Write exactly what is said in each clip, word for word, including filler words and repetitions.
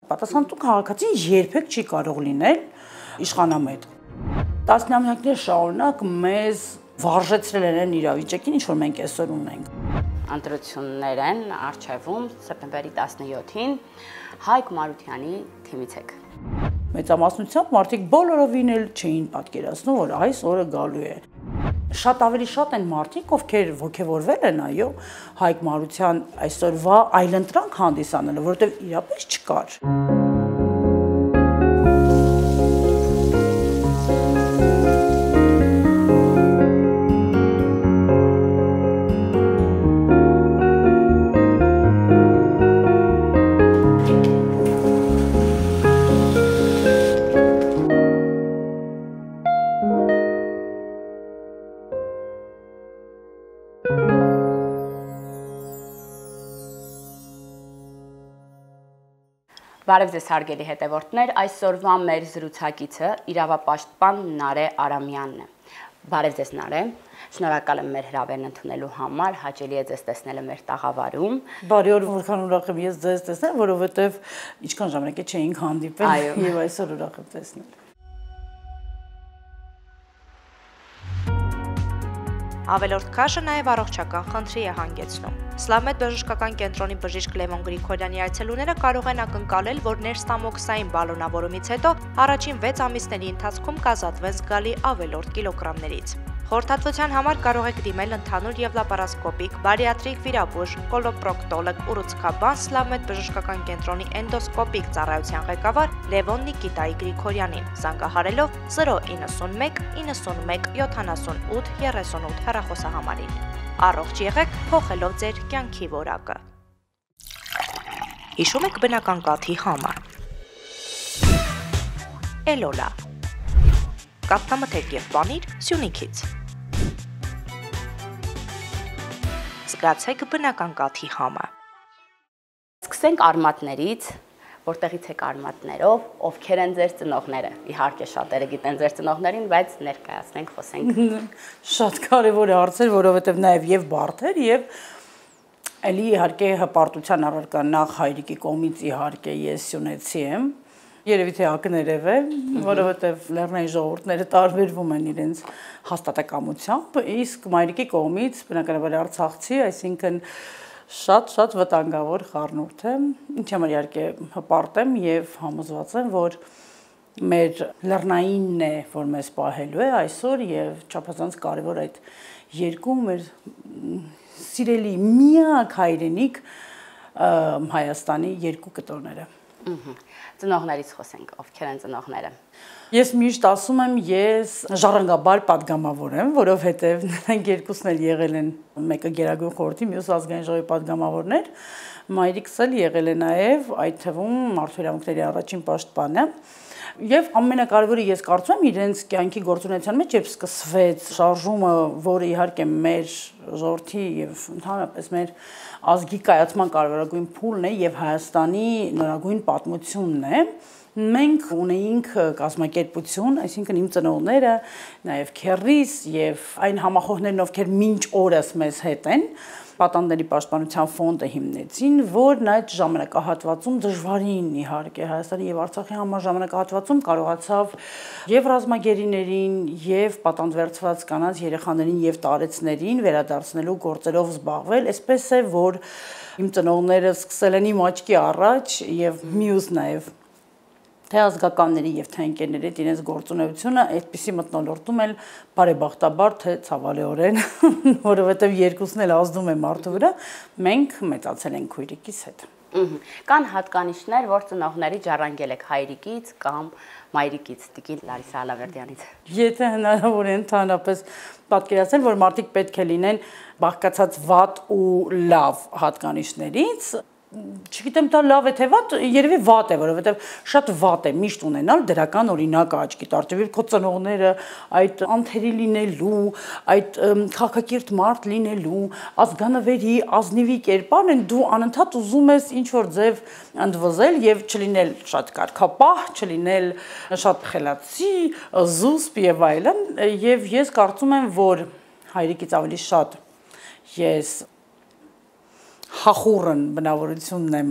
Պատասխանատու քաղաքացին երբեք չի կարող լինել իշխանամետ։ Տասնամյակներ շարունակ մեզ վարժեցրել են իրավիճակին, ինչ որ մենք այսօր ունենք։ Ընտրություններ են առջևում սեպտեմբերի տասնյոթին Հայկ Մարությանի թիմից եք։ Մեծամասնությամբ մարդիկ բոլորովին էլ չէին պատկերացնում, որ այս օրը գալու է։ Շատ ավելի շատ են մարդիկ, ովքեր ոգևորվել են, այո, Հայկ Մարության այսօրվա այլընտրանք հանդիսանալը, որովհետև իրապես չկար։ Բարև ձեզ հարգելի հետևորդներ, այսօրվա մեր զրուցակիցը իրավապաշտպան Նարէ Արամյանն է։ Բարև ձեզ Նարէ, շնորհակալ եմ մեր հրավերն ընդունելու համար, հաճելի է ձեզ տեսնելը մեր տաղավարում։ Բարի օր, որքան ուրախ եմ ես ձեզ տեսնել, որովհետև ինչքան ժամանակ է չէինք հանդիպել եւ այսօր ուրախ եմ տեսնել։ Ավելորդ քաշը նաև առողջական խնդրի է հանգեցնում։ Սլավմեդ բժշկական կենտրոնի բժիշկ Լևոն Գրիգորյանի այցելուները կարող են ակնկալել, որ ներստամոքսային բալոնավորումից հետո առաջին վեց ամիսների ընթացքում կազատվեն զգալի ավելորդ կիլոգրամներից։ Խորհրդատվության համար կարող եք դիմել ընդհանուր եւ լապարասկոպիկ, բարիատրիկ վիրաբույժ, կոլոպրոկտոլոգ, ուռուցքաբան Սլավմեդ բժշկական կենտրոնի էնդոսկոպիկ ծառայության ղեկավար Լևոն Նիկիտայի Գրիգորյանին, զանգահարելով զրո իննսունմեկ իննսունմեկ յոթանասունութ երեսունութ հեռախոսահամարին։ Առողջ եղեք, փոխելով ձեր կյանքի որակը։ Հիշում եք բնական կաթի համը։ Էլոլա։ Կաթնամթերք եւ պանիր Սյունիքից։ Զգացեք բնական կաթի համը։ Սկսենք արմատներից, որտեղից եք արմատներով, ովքեր են ձեր ծնողները։ Իհարկե շատերը գիտեն ձեր ծնողներին, բայց ներկայացնենք, խոսենք։ Շատ կարևոր է հարցեր, որովհետև նաև եւ բարդ էր եւ էլի իհարկե հպարտության առարկա նախ հայրիկի կողմից իհարկե ես սյունեցի եմ։ Երևի թե ակներև է, որովհետև լեռնային ժողովուրդները տարբերվում են իրենց հաստատակամությամբ, իսկ մայրիկի կողմից բնականաբար արցախցի, այսինքն շատ-շատ վտանգավոր խառնուրդ է, ինչ համար իհարկե հպարտ եմ եւ համոզված եմ, որ մեր լեռնայինն է, որ մեզ պահելու է այսօր եւ չափազանց կարեւոր այդ երկու մեր սիրելի միակ հայրենիք Հայաստանի երկու կտորները։ Ծնողներից խոսենք, ովքեր են ծնողները։ Ես միշտ ասում եմ, ես ժառանգաբար պատգամավոր եմ, որովհետև նրանք երկուսն էլ եղել են, մեկը Գերագույն խորհրդի, մյուսը ազգային ժողովի պատգամավորներ, մայրիկս էլ եղել է նաև այդ թվում մարդու իրավունքների առաջին պաշտպանը։ Եվ ամենակարևորը ես կարծում եմ իրենց կյանքի գործունեության մեջ, երբ սկսվեց շարժումը, որը իհարկե մեր ժողովրդի եւ ընդհանրապես մեր ազգի կայացման կարևորագույն փուլն է եւ Հայաստանի նորագույն պատմությունն է, մենք ունեինք կազմակերպություն, այսինքն իմ ծնողները, նաև քեռիս եւ այն համախոհներն, ովքեր մինչ օրս մեզ հետ են, Պատանդների պաշտպանության ֆոնդը հիմնեցին, որն այդ ժամանակահատվածում դժվարին իհարկե Հայաստանի եւ Արցախի համար ժամանակահատվածում կարողացավ եւ ռազմագերիներին եւ պատանդվերծված կանանց երեխաներին եւ տարեցներին վերադարձնելու գործերով զբաղվել, այսպես է որ իմ ծնողները սկսել են իմ աչքի առաջ եւ մյուս նաեւ թե ազգականների եւ թե ընկերների հետ իրենց գործունեությունը այդպիսի մթնոլորտում էլ բարեբախտաբար թե ցավալիորեն, որովհետեւ երկուսն էլ ազդում է մարդու վրա, մենք մեծացել ենք քույրիկիս հետ։ Կան հատկանիշներ, որ ծնողների ժառանգել եք հայրիկից կամ մայրիկից, Տիկին Լարիսա Ալավերդյանից։ Եթե հնարավոր է ընդհանրապես պատկերացնել, որ մարդիկ պետք է լինեն բաղկացած վատ ու լավ հատկանիշներից, չգիտեմ դա լավ է թե վատ, երևի վատ է, որովհետև շատ վատ է միշտ ունենալ դրական օրինակը աչքի տարչևի քո ծնողները այդ անթերի լինելու, այդ քաղաքակիրթ մարդ լինելու, ազգանվերի, ազնիվի կերպարն են, դու անընդհատ ուզում ես ինչ որ ձև ընդվզել եւ չլինել շատ կարգապահ, չլինել շատ խելացի, զուսպ եւ այլն, եւ ես կարծում եմ, որ հայրիկից ավելի շատ ես հախուռն բնավորությունն եմ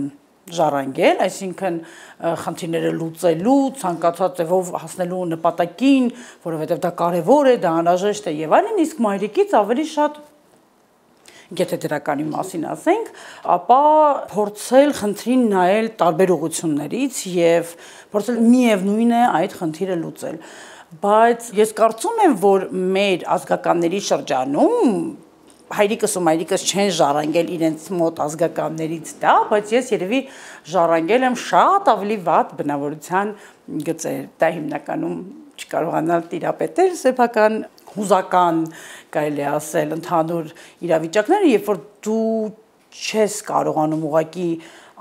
ժառանգել, այսինքն խնդիրները լուծելու, ցանկացած ձևով հասնելու նպատակին, որովհետև դա կարևոր է, դա անհրաժեշտ է եւ այլն, իսկ մայրիկից ավելի շատ եթե դրականի մասին ասենք, ապա փորձել խնդրին նայել տարբեր ուղղություններից եւ փորձել միևնույն է այդ խնդիրը լուծել։ Բայց ես կարծում եմ, որ մեր ազգականների շրջանում հայրիկս ու մայրիկս չեն ժառանգել իրենց մոտ ազգականներից դա, բայց ես երևի ժառանգել եմ շատ ավելի վատ բնավորության գծեր։ Դա հիմնականում չկարողանալ տիրապետել սեփական հուզական կարելի է ասել ընդհանուր իրավիճակները, երբ որ դու չես կարողանում ուղղակի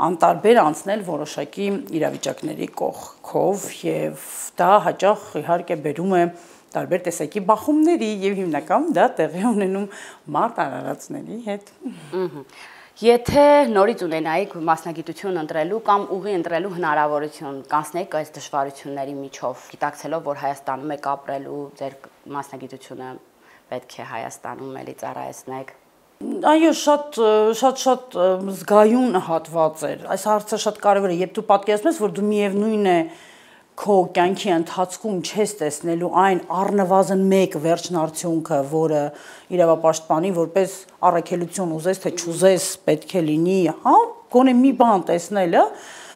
անտարբեր անցնել որոշակի իրավիճակների կողքով եւ դա հաճախ իհարկե բերում է տարբեր տեսակի բախումների եւ հիմնականում դա տեղի ունենում մարդ արարածների հետ։ Եթե նորից ունենայիք մասնագիտություն ընտրելու կամ ուղի ընտրելու հնարավորություն, կանցնեիք այս դժվարությունների միջով, գիտակցելով, որ Հայաստանում եք ապրելու, ձեր մասնագիտությունը պետք է Հայաստանում էլի ծառայեցնեք։ Այո, շատ շատ շատ զգայուն հատված էր։ Այս հարցը շատ կարևոր է, երբ դու պատկերացնում ես, որ դու միևնույն է քո կյանքի ընթացքում չես տեսնելու այն առնվազն մեկ վերջնարդյունքը, որը իրավապաշտպանի որպես առաքելություն ուզես թե չուզես պետք է լինի, հա, գոնե մի բան տեսնելը,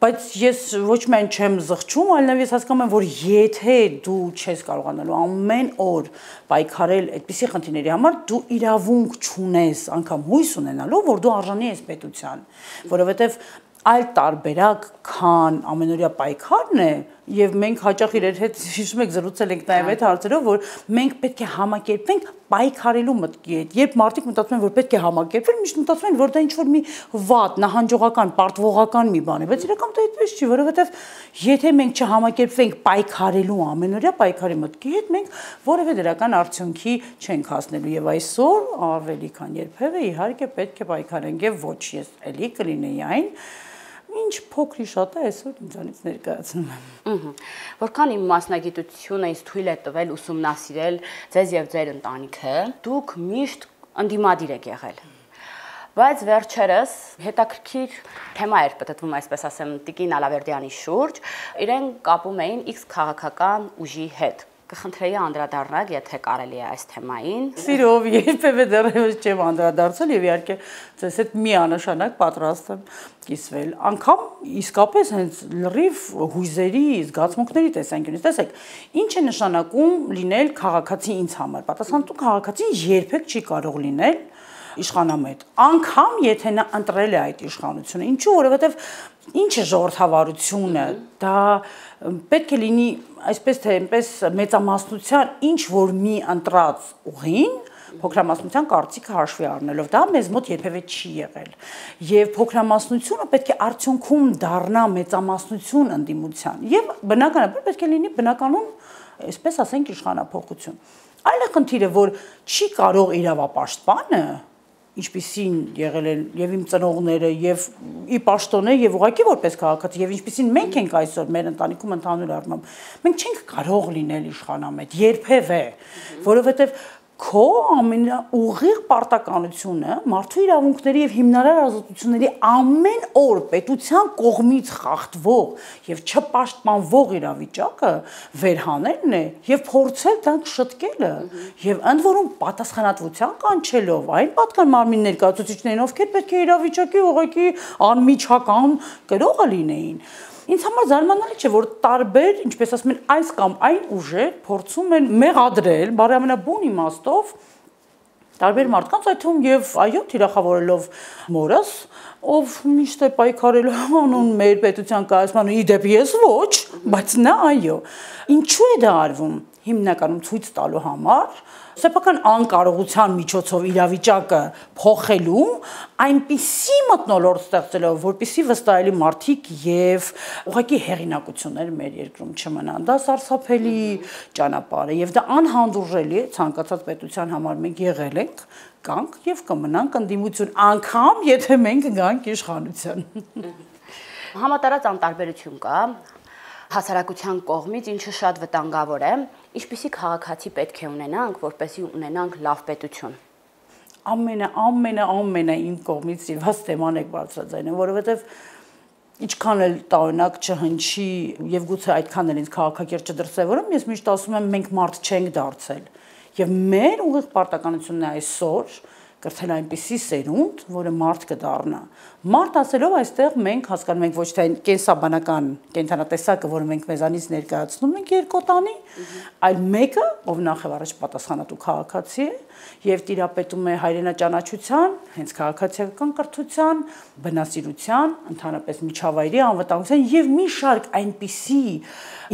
բայց ես ոչ միայն չեմ զղջում, այլ նաև ես հասկանում եմ, որ եթե դու չես կարողանալու ամեն օր պայքարել այդպիսի խնդիրների համար, դու իրավունք չունես անգամ հույս ունենալու, որ դու արժանի ես պետության, որովհետև այլ տարբերակ, քան ամենօրյա պայքարն է, եւ մենք հաճախ իրար հետ հիշում եք զրուցել ենք նաեւ այդ հարցերով, որ մենք պետք է համակերպվենք պայքարելու մտքի հետ։ Երբ մարդիկ մտածում են, որ պետք է համակերպվել, միշտ մտածում են, որ դա ինչ-որ մի վատ, նահանջողական, պարտվողական մի բան է, բայց իրականում դա այդպես չի, որովհետեւ եթե մենք չհամակերպվենք պայքարելու ամենօրյա պայքարի մտքի հետ, մենք որևէ դրական արդյունքի չենք հասնելու եւ այսօր ավելի քան երբևէ իհարկե պետք է պայքարենք եւ ոչ ես էլի կլինեի այն ինչ փոքրի շատ է այսօր ինձանից ներկայացնում եմ։ Որքան իմ մասնագիտությունը ինձ թույլ է տվել ուսումնասիրել ձեզ եւ ձեր ընտանիքը, դուք միշտ ընդդիմադիր եք եղել։ Բայց վերջերս հետաքրքիր թեմա էր պատտվում, այսպես ասեմ, Տիկին Ալավերդյանի շուրջ, իրեն կապում էին X քաղաքական ուժի հետ։ Կխնդրեի անդրադառնալ, եթե կարելի է այս թեմային։ Սիրով, երբևէ դեռևս չեմ անդրադարձել եւ իհարկե ձեզ հետ միանշանակ պատրաստ եմ կիսվել։ Անկամ իսկապես հենց լրիվ հույզերի, զգացմունքների տեսանկյունից, տեսեք, ինչ է նշանակում լինել քաղաքացի ինձ համար։ Պատասխանատու քաղաքացին երբեք չի կարող լինել իշխանամետ, անգամ եթե նա ընտրել է այդ իշխանությունը։ Ինչու, որովհետև ինչ է ժողովրդավարությունը, դա պետք է լինի այսպես թե այնպես մեծամասնության ինչ որ մի ընտրած ուղին, փոքրամասնության կարծիքը հաշվի առնելով, դա մեզ մոտ երբևէ չի եղել։ Եվ փոքրամասնությունը պետք է արդյունքում դառնա մեծամասնություն ընդդիմության։ Եւ բնականաբար պետք է լինի բնականon, այսպես ասենք, իշխանափոխություն։ Այլ է խնդիրը, որ չի կարող իրավապաշտպանը ինչպիսին եղել են եւ իմ ծնողները եւ ի պաշտոնե եւ ուղղակի որպես քաղաքացի եւ ինչպիսին մենք ենք այսօր մեր ընտանիքում ընդհանուր առմամբ մենք չենք կարող լինել իշխանամետ երբևէ, որովհետեւ քո ամենաուղիղ պարտականությունը մարդու իրավունքների եւ հիմնարար ազատությունների ամեն օր պետության կողմից խախտվող եւ չպաշտպանվող իրավիճակը վերհանելն է եւ փորձել դրանք շտկելը եւ ընդ որում պատասխանատվության կանչելով այն պատկան մարմին ներկայացուցիչներին, ովքեր պետք է իրավիճակի ուղղակի անմիջական կրողը լինեին։ Ինձ համար զարմանալի չէ, որ տարբեր, ինչպես ասում են, այս կամ այն ուժեր փորձում են մեղադրել, բարի ամենաբուն իմաստով տարբեր մարդկանց, այդ թվում եւ այո, թիրախավորելով մորս, ով միշտ է պայքարել անուն մեր պետության կայացման, իդեպ ես ոչ, բայց նա այո։ Ինչու է դա արվում։ Հիմնականում ցույց տալու համար, սեփական անկարողության միջոցով իրավիճակը փոխելու, այնպիսի մթնոլորտ ստեղծելով, որպեսզի վստահելի մարդիկ եւ ուղղակի հեղինակություններ մեր երկրում չմնան։ Դա սարսափելի ճանապարհ է եւ դա անհանդուրժելի է ցանկացած պետության համար։ Մենք եղել ենք, կանք եւ կմնանք ընդդիմություն, անգամ եթե մենք գանք իշխանության։ Համատարած անտարբերություն կա հասարակության կողմից, ինչը շատ վտանգավոր է, ինչպիսի քաղաքացի պետք է ունենանք, որպեսզի ունենանք լավ պետություն։ Ամենա ամենա ամենա իմ կողմից սիրված թեման եք բարձրաձայնում, որովհետև ինչքան էլ տարօրինակ չհնչի եւ գուցե այդքան էլ ինձ քաղաքակիրթ չդրսևորում, ես միշտ ասում եմ մենք մարդ չենք դարձել։ Եվ մեր ուղիղ պարտականությունն է այսօր կրթել այնպիսի սերունդ, որը մարդ կդառնա։ Մարդ ասելով այստեղ մենք հասկանում ենք ոչ թե այն կենսաբանական կենթանատեսակը, որը մենք մեզանից ներկայացնում ենք երկոտանի, այլ մեկը, ով նախ եւ առաջ պատասխանատու քաղաքացի է եւ տիրապետում է հայրենաճանաչության, հենց քաղաքացիական կրթության, բնասիրության, ընդհանրապես միջավայրի անվտանգության եւ մի շարք այնպիսի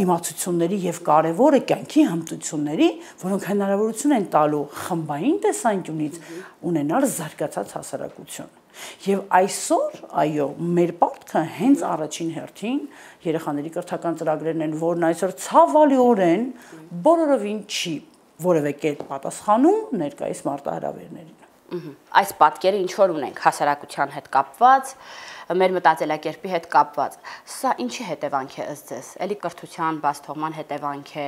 իմացությունների եւ կարեւորը կյանքի հմտությունների, որոնք հնարավորություն են տալու խմբային տեսանկյունից ունենալ զարգացած հասարակություն։ Եվ այսօր, այո, մեր պարտքը հենց առաջին հերթին երեխաների կրթական ծրագրերն են, որն այսօր ցավալիորեն բոլորովին չի որևէ կերպ պատասխանում ներկայիս մարտահրավերներին։ Այս պատկերը ինչ որ ունենք հասարակության հետ կապված, մեր մտածելակերպի հետ կապված։ Սա ինչի հետևանք է ըստ ձեզ։ Էլի կրթության բացթողման հետևանք է,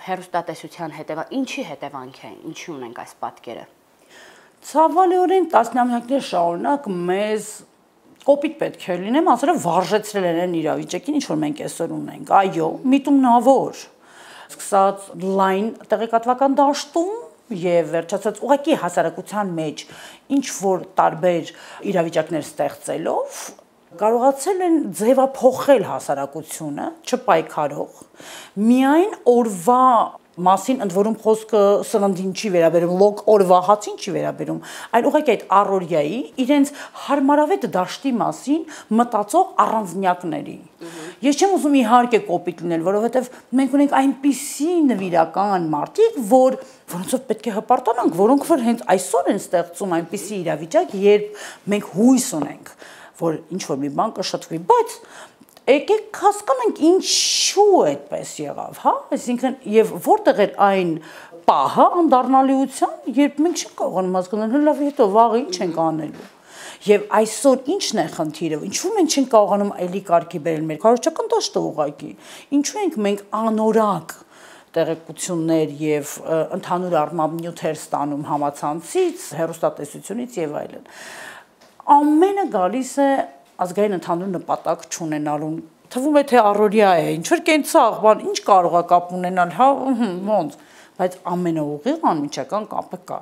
հեռուստատեսության հետևանք, ինչի հետևանք է, ինչի ունենք այս պատկերը։ Ցավալիորեն տասնամյակներ շարունակ մեզ կոպիտ պետք է լինեմ, ասել վարժեցրել են իրավիճակին, ինչ որ մենք այսօր ունենք։ Այո, միտումնավոր, սկսած լայն տեղեկատվական դաշտում եւ վերջացած ուղղակի հասարակության մեջ ինչ որ տարբեր իրավիճակներ ստեղծելով կարողացել են ձևափոխել հասարակությունը, չպայքարող, միայն օրվա մասին ընդ որում խոսքը սննդին չի վերաբերում, լոկ օրվա հացին չի վերաբերում, այլ ուղղակի այդ առօրյայի իրենց հարմարավետ դաշտի մասին մտածող առանձնյակների։ Ես չեմ ուզում իհարկե կոպիտ լինել, որովհետև մենք ունենք այնպիսի նվիրական մարդիկ, որ որոնցով պետք է հպարտանանք, որոնք որ հենց այսօր են ստեղծում այնպիսի իրավիճակ, երբ մենք հույս ունենք, որ ինչ որ մի բան կշտկվի, բայց եկեք հասկանանք ինչու այդպես եղավ, հա, այսինքն եւ որտեղ էր այն պահը անդառնալիության, երբ մենք չենք կարողանում հասկանալ, լավ, հետո վաղը ինչ ենք անելու։ Եվ այսօր ինչն է խնդիրը, ինչու մենք չենք կարողանում այլի կարգի բերել մեր քարոզչական դաշտը ուղղակի, ինչու ենք մենք անորակ տեղեկություններ եւ ընդհանուր առմամբ նյութեր ստանում համացանցից, հեռուստատեսությունից եւ այլն։ Ամենը գալիս է ազգային ընդհանուր նպատակ չունենալուն, թվում է թե առօրյա է, ինչ որ կենցաղ, բան, ինչ կարող է կապ ունենալ, հա, ոնց, բայց ամենաուղիղ անմիջական կապը կա։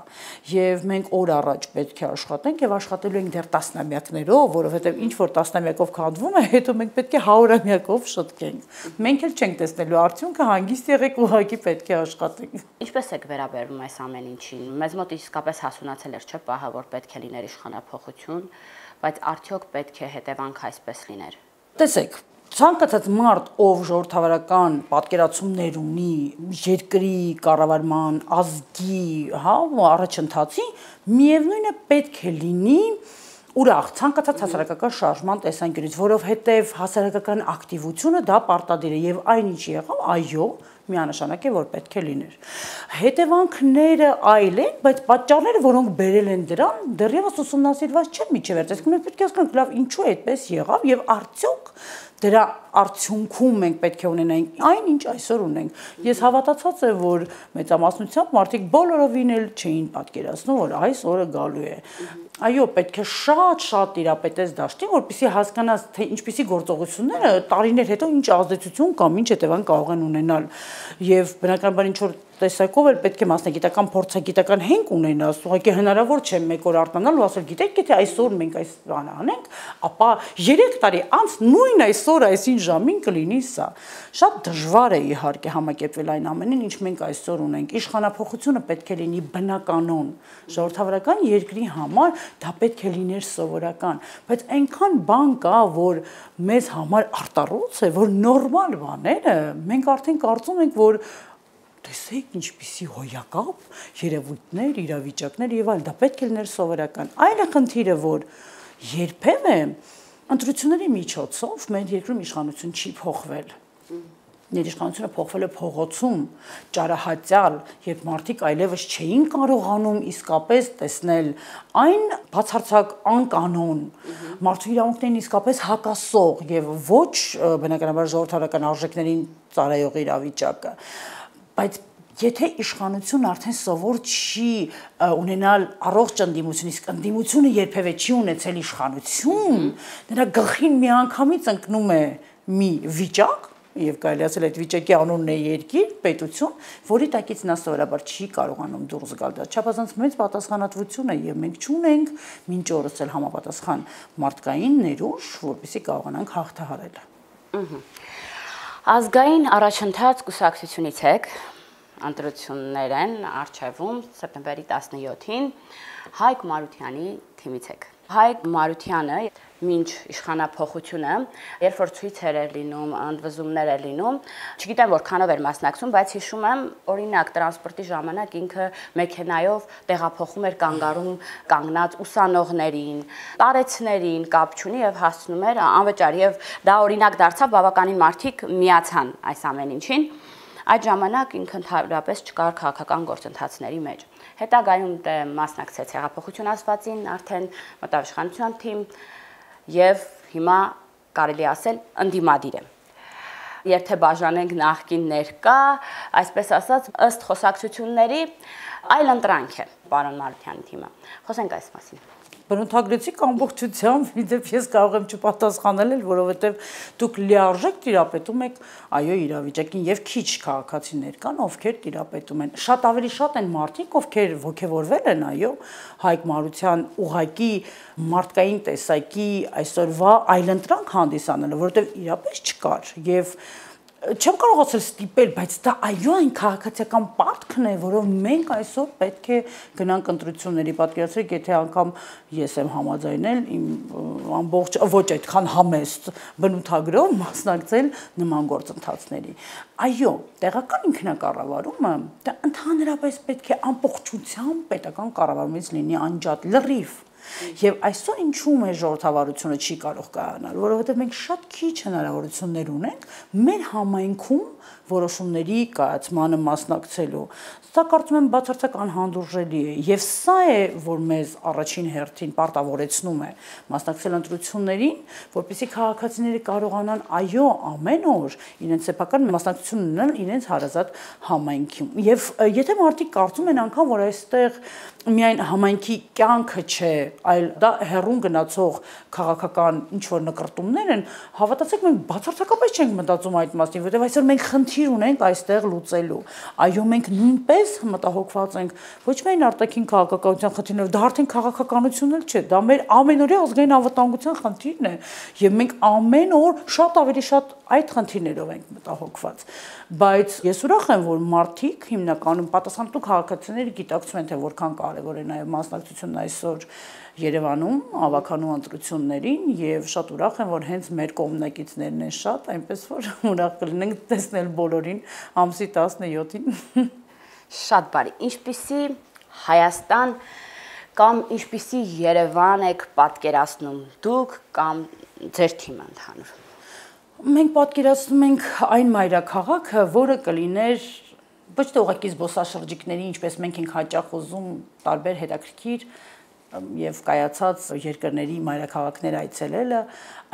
Եվ մենք օր առաջ պետք է աշխատենք եւ աշխատելու ենք դեռ տասնամյակներով, որովհետեւ ինչ որ տասնամյակով քանդվում է, հետո մենք պետք է հարյուրամյակով շտկենք։ Մենք էլ չենք տեսնելու արդյունքը, հանգիստ եղեք, ուղղակի պետք է աշխատենք։ Ինչպես եք վերաբերվում այս ամեն ինչին։ Մեզ մոտ իսկապես հասունացել էր, չէ՞, պահը, որ պետք է լիներ իշխանափոխություն, բայց արդյոք պետք է հետևանք այսպես լիներ։ Տեսեք, ցանկացած մարդ, ով ժողովրդավարական պատկերացումներ ունի երկրի կառավարման, ազգի, հա, առաջընթացի, միևնույն է պետք է լինի ուրախ ցանկացած հասարակական շարժման տեսանկյունից, որովհետև հասարակական ակտիվությունը դա պարտադիր է եւ այնինչ եղավ, այո, միանշանակ է, որ պետք է լիներ։ Հետևանքները այլ են, բայց պատճառները, որոնք բերել են դրան, դեռևս ուսումնասիրված չեն միջևերջ։ Այսինքն մենք պետք է հասկանանք, լավ, ինչու այդպես եղավ եւ արդյոք դրա արդյունքում մենք պետք է ունենանք այն, ինչ այսօր ունենք։ Ես հավատացած եմ, որ մեծամասնությամբ մարդիկ բոլորովին էլ չէին պատկերացնում, որ այս օրը գալու է։ Այո, պետք է շատ-շատ տիրապետես դաշտին, որպեսզի հասկանաս, թե ինչպիսի գործողությունները տարիներ հետո ինչ ազդեցություն կամ ինչ հետևանք կարող են ունենալ։ Եվ բնականաբար ինչ որ տեսակով էլ պետք է մասնագիտական փորձագիտական հենք ունենաս, ուղղակի հնարավոր չէ մեկ օր արթնանալ ու ասել, գիտեք, եթե այսօր մենք այս բանը անենք, ապա երեք տարի անց նույն այսօր այսին ժամին կլինի սա։ Շատ դժվար է իհարկե համակերպվել այն ամենին, ինչ մենք այսօր ունենք։ Իշխանափոխությունը պետք է լինի բնականon, ժողովրդավարական երկրի համար դա պետք է լիներ սովորական, բայց այնքան բան կա, որ մեզ համար արտառոց է, որ նորմալ բաները մենք արդեն կարծում ենք, որ տեսեք ինչպիսի հոյակապ, երևույթներ, իրավիճակներ եւ այլ, դա պետք է լիներ սովորական։ Այլ խնդիրը, որ երբեմն ընտրությունների միջոցով մեր երկրում իշխանություն չի փոխվել։ Ներիշխանությունը փոխվել է փողոցում, ճարահատյալ, երբ մարդիկ այլևս չէին կարողանում իսկապես տեսնել այն բացարձակ անկանոն, մարդու իրավունքներին իսկապես հակասող եւ ոչ բնականաբար ժողովրդական արժեքներին ծառայող իրավիճակը։ Բայց Եթե իշխանությունը արդեն սովոր չի ունենալ առողջ ընդդիմություն, իսկ ընդդիմությունը երբևէ չի ունեցել իշխանություն, նրա գլխին միանգամից ընկնում է մի վիճակ, եւ կարելի ասել այդ վիճակի անունն է երկիր, պետություն, որի տակից նա սովորաբար չի կարողանում դուրս գալ։ Դա չափազանց մեծ պատասխանատվություն է եւ մենք չունենք մինչ օրս էլ համապատասխան մարդկային ներուժ, որպեսզի կարողանանք հաղթահարել։ Ազգային առաջընթաց կուսակցությունից եք ընտրություններ են արչևում սեպտեմբերի տասնյոթին Հայկ Մարությանի թիմից եք։ Հայկ Մարությանը մինչ իշխանափոխությունը, երբ որ ցույցեր էր լինում, ընդվզումներ էր լինում, չգիտեմ որքանով էր մասնակցում, բայց հիշում եմ, օրինակ տրանսպորտի ժամանակ ինքը մեքենայով տեղափոխում էր կանգառում կանգնած ուսանողներին, տարեցներին, կապ չունի եւ հասցնում էր անվճար եւ դա օրինակ դարձավ բավականին մարդիկ միացան այս ամեն ինչին։ Այդ ժամանակ ինքը ընդհանրապես չկար քաղաքական գործընթացների մեջ։ Հետագայում դե մասնակցեց հեղափոխություն ասվածին, արդեն մտավ իշխանության թիմ եւ հիմա կարելի ասել ընդդիմադիր է։ Եթե բաժանենք նախկին ներկա, այսպես ասած, ըստ խոսակցությունների այլ ընտրանք է պարոն Մարությանի թիմը։ Խոսենք այս մասին։ Բնութագրեցիք ամբողջությամբ, իդեպ ես կարող եմ չպատասխանել, որովհետև դուք լիարժեք տիրապետում եք այո իրավիճակին եւ քիչ քաղաքացիներ կան, ովքեր տիրապետում են։ Շատ ավելի շատ են մարդիկ, ովքեր ոգևորվել են, այո, Հայկ Մարության ուղակի մարդկային տեսակի այսօրվա այլընտրանք հանդիսանելը, որովհետև իրապես չկար եւ չեմ կարող ասել ստիպել, բայց դա այո այն քաղաքացիական պարտքն է, որով մենք այսօր պետք է գնանք ընտրությունների, պատկերացրեք, եթե անգամ ես եմ համաձայնել իմ ամբողջ ոչ այդքան համեստ բնութագրով մասնակցել նման գործընթացների։ Այո, տեղական ինքնակառավարումը դա ընդհանրապես պետք է ամբողջությամբ պետական կառավարումից լինի անջատ, լրիվ։ Եվ այսօր ինչու մեր ժողովրդավարությունը չի կարող կայանալ, որովհետև մենք շատ քիչ հնարավորություններ ունենք մեր համայնքում որոշումների կայացմանը մասնակցելու։ Սա կարծում եմ բացարձակ անհանդուրժելի է, եւ սա է, որ մեզ առաջին հերթին պարտավորեցնում է մասնակցել ընտրություններին, որպեսզի քաղաքացիները կարողանան այո ամեն օր իրենց սեփական մասնակցություն ունենալ իրենց հարազատ համայնքում։ Եվ եթե մարդիկ կարծում են անգամ, որ այստեղ միայն համայնքի կյանքը չէ, այլ դա հեռուն գնացող քաղաքական ինչ-որ նկրտումներ են, հավատացեք, մենք բացարձակապես չենք մտածում այդ մասին, որովհետև այսօր մենք խնդիր ունենք այստեղ լուծելու։ Այո, մենք նույնպես մտահոգված ենք ոչ միայն արտաքին քաղաքականության խնդիրներով, դա արդեն քաղաքականություն էլ չէ, դա մեր ամենօրյա ազգային անվտանգության խնդիրն է, եւ մենք ամեն օր շատ ավելի շատ այդ խնդիրներով ենք մտահոգված։ Բայց ես ուրախ եմ, որ մարդիկ հիմնականում պատասխանատու քաղաքացիները գիտակցում են, թե որքան կարևոր է նաեւ մասնակցությունն այսօր Երևանում ավականու ընտրություններին եւ շատ ուրախ եմ, որ հենց մեր կողմնակիցներն են շատ, այնպես որ ուրախ կլինենք տեսնել բոլորին ամսի տասնյոթին։ Շատ բարի։ Ինչպիսի Հայաստան կամ ինչպիսի Երևան եք պատկերացնում դուք կամ ձեր թիմը ընդհանուր։ Մենք պատկերացնում ենք այն մայրաքաղաքը, որը կլիներ ոչ թե ուղղակի զբոսաշրջիկների, ինչպես մենք ենք հաճախ ուզում տարբեր հետաքրքիր եւ կայացած երկրների մայրաքաղաքներ այցելելը,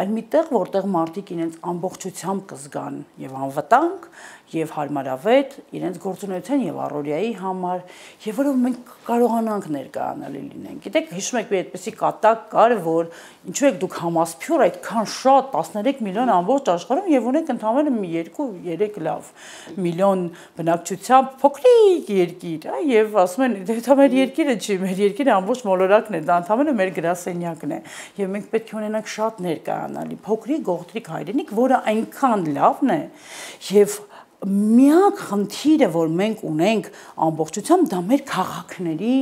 այլ մի տեղ, որտեղ մարդիկ իրենց ամբողջությամբ կզգան եւ անվտանգ, եւ հարմարավետ իրենց գործունեության եւ առօրյայի համար, եւ որով մենք կարողանանք ներկայանալի լինենք։ Գիտեք, հիշում եք, մի այդպեսի կատակ կար, որ ինչու եք դուք համասփյուր այդքան շատ տասներեք միլիոն ամբողջ աշխարհում եւ ունեք ընդհանրապես մի երկու երեք լավ միլիոն բնակչությամբ փոքրիկ երկիր, այ եւ ասում են, դա մեր երկիրը չի, մեր երկիրը ամբողջ մոլորակն է, դա ընդհանրապես մեր գրասենյակն է, եւ մենք պետք է ունենանք շատ ներկայանալի փոքրիկ գողտրիկ հայրենիք, որը այնքան լավն է եւ միակ խնդիրը, որ մենք ունենք ամբողջությամբ, դա մեր քաղաքների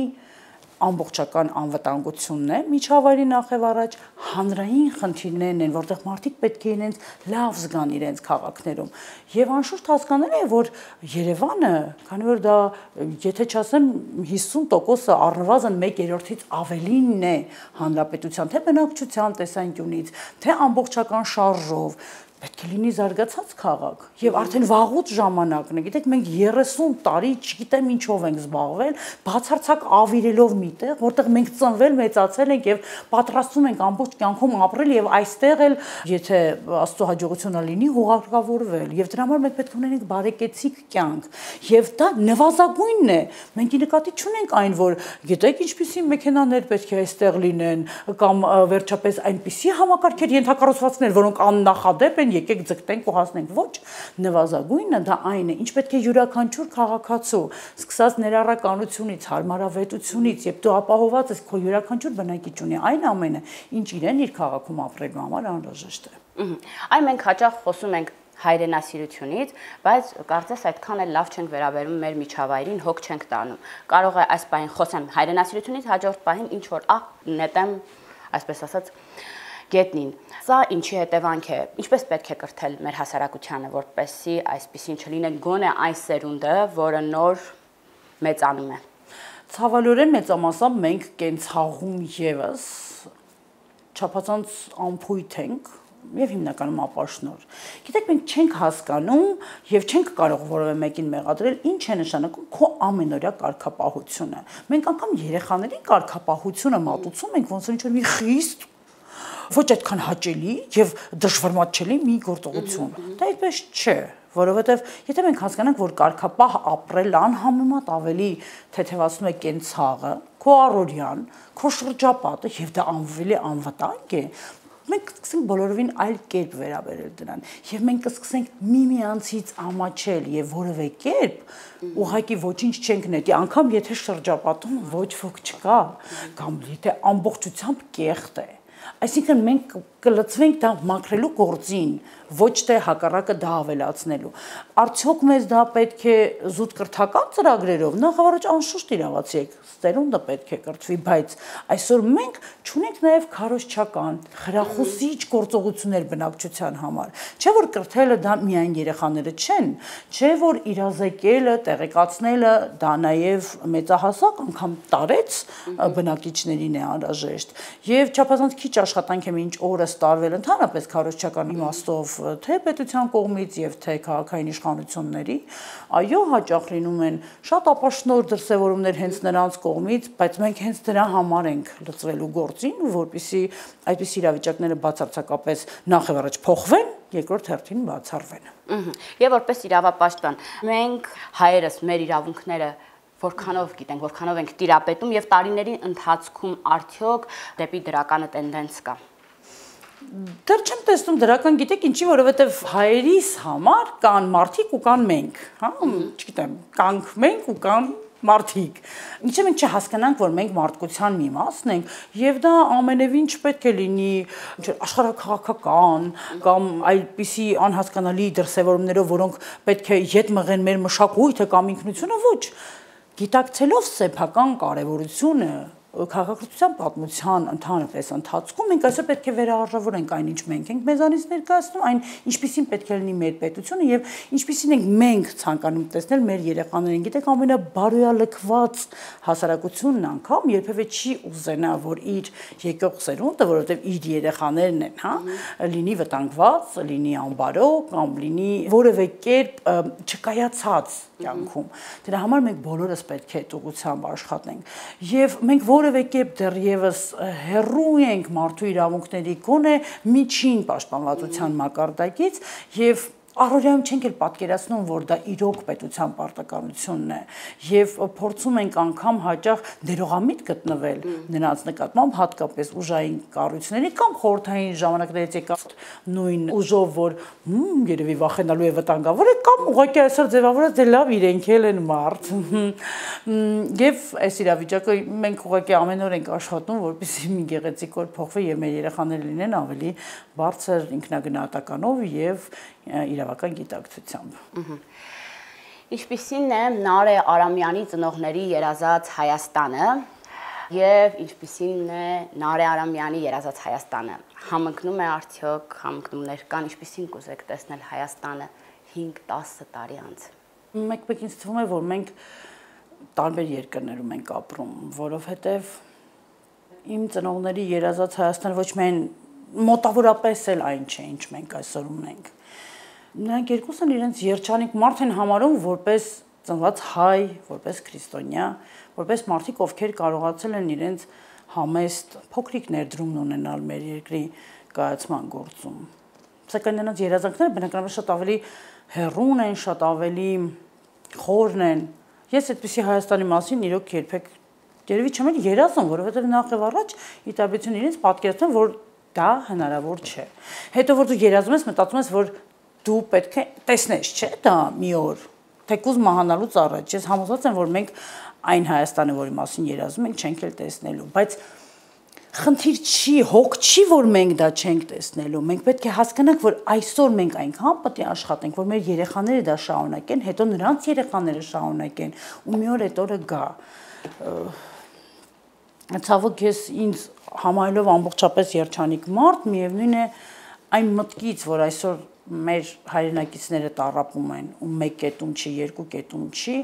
ամբողջական անվտանգությունն է, միջավայրի նախև առաջ հանրային խնդիրներն են, որտեղ մարդիկ պետք է իրենց լավ զգան իրենց քաղաքներում։ Եվ անշուշտ հասկանալի է, որ Երևանը, քանի որ դա, եթե չասեմ հիսուն տոկոսը առնվազն մեկ երրորդից ավելինն է հանրապետության, թե բնակչության տեսանկյունից, թե ամբողջական շարժով, պետք է լինի զարգացած քաղաք եւ արդեն վաղուց ժամանակն է գիտեք մենք երեսուն տարի չգիտեմ ինչով ենք զբաղվել բացարձակ ավիրելով միտեղ որտեղ մենք ծնվել մեծացել ենք եւ պատրաստվում ենք ամբողջ կյանքում ապրել եւ այստեղ էլ եթե աստծո հաջողությունը լինի հուղարկավորվել եւ դրա համար մենք պետք է ունենանք բարեկեցիկ կյանք եւ դա նվազագույնն է մենք նկատի չունենք այն որ գիտեք ինչպիսի մեքենաներ պետք է այստեղ լինեն կամ վերջապես այնպիսի համակարգեր ենթակառուցվածքներ որոնք աննախադեպ են եկեք ձգտենք ու հասնենք ոչ նվազագույնը դա այն է ինչ պետք է յուրաքանչյուր քաղաքացու սկսած ներառականությունից հարմարավետությունից եւ դու ապահոված ես քո յուրաքանչյուր բնակիչ ունի այն ամենը ինչ իրեն իր քաղաքում ապրելու համար անհրաժեշտ է այն մենք հաճախ խոսում ենք հայրենասիրությունից, բայց կարծես այդքան էլ լավ չենք վերաբերում մեր միջավայրին, հոգ չենք տանում։ Կարող է այս պահին խոսեմ հայրենասիրությունից, հաջորդ պահին ինչ որ ահ նետեմ, այսպես ասած, գետնին։ Սա ինչի հետևանք է, ինչպես պետք է կրթել մեր հասարակությանը, որպեսզի այսպեսին չլինի գոնե այս սերունդը, որը նոր մեծանում է։ Ցավալիորեն մեծամասամբ մենք կենցաղում եւս չափազանց անփույթ ենք եւ հիմնականում ապաշնոր։ Գիտեք, մենք չենք հասկանում եւ չենք կարող որևէ մեկին մեղադրել ինչ է նշանակում քո ամենօրյա կարգապահությունը։ Մենք անգամ երեխաների կարգապահությունը մատուցում ենք ոնց որ ինչ-որ մի խիստ ոչ այդքան հաճելի եւ դժվարմատչելի մի գործողություն։ Դա այդպես չէ, որովհետեւ եթե մենք հասկանանք, որ կարգապահ ապրել անհամեմատ ավելի թեթևացնում է կենցաղը, քո առօրյան, քո շրջապատը եւ դա անվելի անվտանգ է, մենք կսկսենք բոլորովին այլ կերպ վերաբերել դրան եւ մենք կսկսենք միմյանցից ամաչել եւ որևէ կերպ ուղղակի ոչինչ չենք նետի անգամ եթե շրջապատում ոչ ոք չկա կամ եթե ամբողջությամբ կեղտ է այսինքն մենք կլծվենք դա մաքրելու գործին ոչ թե հակառակը դա ավելացնելու արդյոք մեզ դա պետք է զուտ կրթական ծրագրերով նախավորոջ անշուշտ իրավացի եք ստերունդը պետք է կրթվի բայց այսօր մենք չունենք նաև քարոզչական խրախուսիչ գործողություններ բնակչության համար չէ որ կրթելը դա միայն երեխաները չեն չէ որ իրազեկելը տեղեկացնելը դա նաև մեծահասակ անգամ տարեց բնակիչներին է անհրաժեշտ եւ չափազանց քիչ աշխատանք է մինչ օրս տարվել ընդհանրապես քարոզչական իմաստով թե պետության կողմից եւ թե քաղաքային իշխանությունների այո հաճախ լինում են շատ ապաշնոր դրսևորումներ հենց նրանց կողմից բայց մենք հենց դրա համար ենք լծվելու գործին որպեսզի այդպես իրավիճակները բացարձակապես նախ եւ առաջ փոխվեն երկրորդ հերթին բացառվեն եւ որպես իրավապաշտպան մենք հայերս մեր իրավունքները որքանով գիտենք, որքանով ենք տիրապետում եւ տարիների ընթացքում արդյոք դեպի դրականը տենդենս կա։ Դեռ չեմ տեսնում դրական, գիտեք ինչի, որովհետեւ հայերիս համար կան մարդիկ ու կան մենք, հա, չգիտեմ, կանք մենք ու կան մարդիկ։ Ինչը մենք չհասկանանք, որ մենք մարդկության մի մասն ենք, եւ դա ամենևին չպետք է լինի աշխարհաքաղաքական կամ այլպիսի անհասկանալի դրսևորումներով, որոնք պետք է յետ մղեն մեր մշակույթը կամ ինքնությունը, ոչ։ Գիտակցելով սեփական կարևորությունը քաղաքացիության պատմության ընդհանրապես ընթացքում մենք այսօր պետք է վերահարժավորենք այն ինչ մենք ենք մեզանից ներկայացնում, այն ինչպիսին պետք է լինի մեր պետությունը եւ ինչպիսին ենք մենք ցանկանում տեսնել մեր երեխաներին։ Գիտեք, ամենաբարոյալքված հասարակությունն անգամ երբևէ չի ուզենա, որ իր եկող սերունդը, որովհետեւ իր երեխաներն են, հա, լինի վտանգված, լինի անբարո կամ լինի որևէ կերպ չկայացած կյանքում։ Դրա համար մենք բոլորս պետք է տուգությամբ աշխատենք եւ մենք որևէ կերպ դեռևս հեռու ենք մարդու իրավունքների գոնե միջին պաշտպանվածության մակարդակից եւ առօրյայում չենք էլ պատկերացնում, որ դա իրոք պետության պարտականությունն է եւ փորձում ենք անգամ հաճախ դերողամիտ գտնվել նրանց նկատմամբ հատկապես ուժային կառույցների կամ խորհրդային ժամանակներից եկած նույն ուժով, որ երևի վախենալու է վտանգավոր է կամ ուղղակի այսօր ձևավորած դե լավ իրենք էլ են մարդ եւ այս իրավիճակը մենք ուղղակի ամեն օր ենք աշխատում, որպեսզի մի գեղեցիկ օր փոխվի եւ մեր երեխաները լինեն ավելի բարձր ինքնագնահատականով եւ իրավական գիտակցությամբ։ Ինչպիսին է Նարէ Արամյանի ծնողների երազած Հայաստանը եւ ինչպիսին է Նարէ Արամյանի երազած Հայաստանը։ Համընկնում է արդյոք, համընկնումներ կան, ինչպիսին կուզեք տեսնել Հայաստանը հինգ-տասը տարի անց։ Մեկ-մեկ ինձ թվում է, որ մենք տարբեր երկրներում ենք ապրում, որովհետեւ իմ ծնողների երազած Հայաստանը ոչ միայն մոտավորապես էլ այն չէ, ինչ մենք այսօր ունենք։ Նրանք երկուսն իրենց երջանիկ մարդ են համարում որպես ծնված հայ, որպես քրիստոնյա, որպես մարդիկ, ովքեր կարողացել են իրենց համեստ փոքրիկ ներդրումն ունենալ մեր երկրի կայացման գործում։ Սակայն նրանց երազանքները բնականաբար շատ ավելի հեռուն են, շատ ավելի խորն են։ Ես այդպիսի Հայաստանի մասին իրոք երբեք երևի չեմ էլ երազում, որովհետև նախ եւ առաջ ի տարբերություն իրենց պատկերացնում, որ դա հնարավոր չէ։ Հետո որ դու երազում ես, մտածում ես, որ դու պետք է տեսնես, չէ՞, դա մի օր, թեկուզ մահանալուց առաջ։ Ես համոզված եմ, որ մենք այն Հայաստանը, որի մասին երազում ենք, չենք էլ տեսնելու, բայց խնդիր չի, հոգ չի, որ մենք դա չենք տեսնելու։ Մենք պետք է հասկանանք, որ այսօր մենք այնքան պետք է աշխատենք, որ մեր երեխաները դա շարունակեն, հետո նրանց երեխաները շարունակեն, ու մի օր այդ օրը գա։ Ցավոք ես ինձ համարելով ամբողջապես երջանիկ մարդ, միևնույն է այն մտքից, որ այսօր մեր հայրենակիցները տառապում են, ու մեկ կետում չի, երկու կետում չի,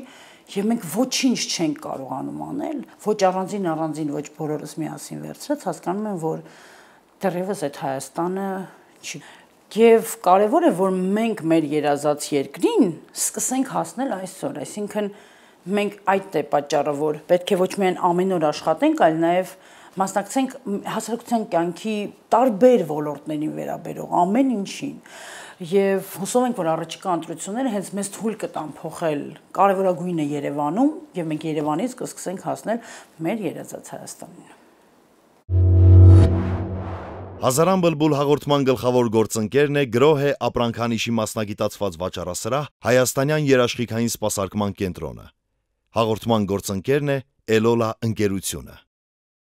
եւ մենք ոչինչ չենք կարողանում անել, ոչ առանձին առանձին, ոչ բոլորս միասին վերցրած, հասկանում եմ, որ դեռևս այդ Հայաստանը չի։ Եվ կարևոր է, որ մենք մեր երազած երկրին սկսենք հասնել այսօր, այսինքն մենք այդ է պատճառը, որ պետք է ոչ միայն ամեն օր աշխատենք, այլ նաեւ մասնակցենք հասարակության կյանքի տարբեր ոլորտներին վերաբերող ամեն ինչին։ Եվ հուսով ենք, որ առաջիկա ընտրությունները հենց մեզ թույլ կտան փոխել կարևորագույնը Երևանում, եւ մենք Երևանից կսկսենք հասնել մեր երազած Հայաստանին։ Հազարան բլբուլ հաղորդման գլխավոր գործընկերն է գրոհ է ապրանքանիշի մասնագիտացված վաճառասրահ Հայաստանյան երաշխիքային սպասարկման կենտրոնը։ Հաղորդման գործընկերն է Էլոլա ընկերությունը։